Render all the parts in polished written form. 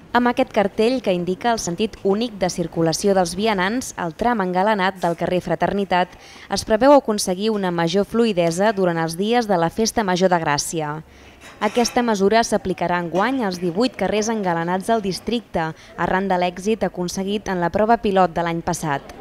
Amb aquest cartell que indica el sentit únic de circulació dels vianants, el tram engalanat del carrer Fraternitat es preveu aconseguir una major fluïdesa durant els dies de la Festa Major de Gràcia. Aquesta mesura s'aplicarà enguany als 18 carrers engalanats del districte, arran de l'èxit aconseguit en la prova pilot de l'any passat.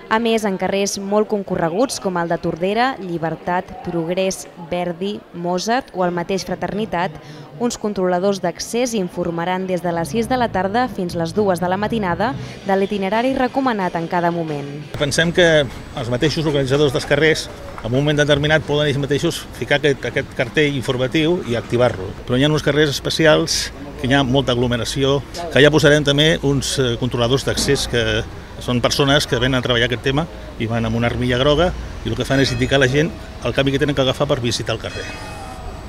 A més, en carrers molt concorreguts com el de Tordera, Llibertat, Progrés, Verdi, Mozart o el mateix Fraternitat, uns controladors d'accés informaran des de les 6 de la tarda fins les 2 de la matinada de l'itinerari recomanat en cada moment. Pensem que els mateixos organitzadors dels carrers en un moment determinat poden ells mateixos ficar aquest cartell informatiu i activar-lo. Però hi ha uns carrers especials que hi ha molta aglomeració, que ja posarem també uns controladors d'accés que són persones que venen a treballar aquest tema i van amb una armilla groga i el que fan és indicar a la gent el camí que tenen que agafar per visitar el carrer.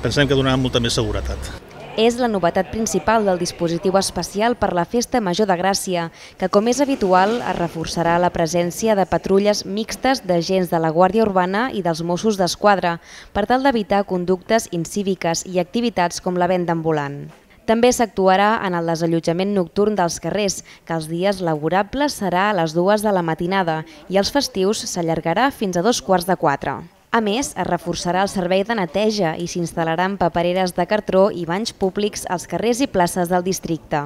Pensem que donarà molta més seguretat. És la novetat principal del dispositiu especial per la Festa Major de Gràcia, que, com és habitual, es reforçarà la presència de patrulles mixtes d'agents de la Guàrdia Urbana i dels Mossos d'Esquadra, per tal d'evitar conductes incíviques i activitats com la venda ambulant. També s'actuarà en el desallotjament nocturn dels carrers, que els dies laborables serà a les 2 de la matinada i els festius s'allargarà fins a 3:45. A més, es reforçarà el servei de neteja i s'instal·laran papereres de cartró i banys públics als carrers i places del districte.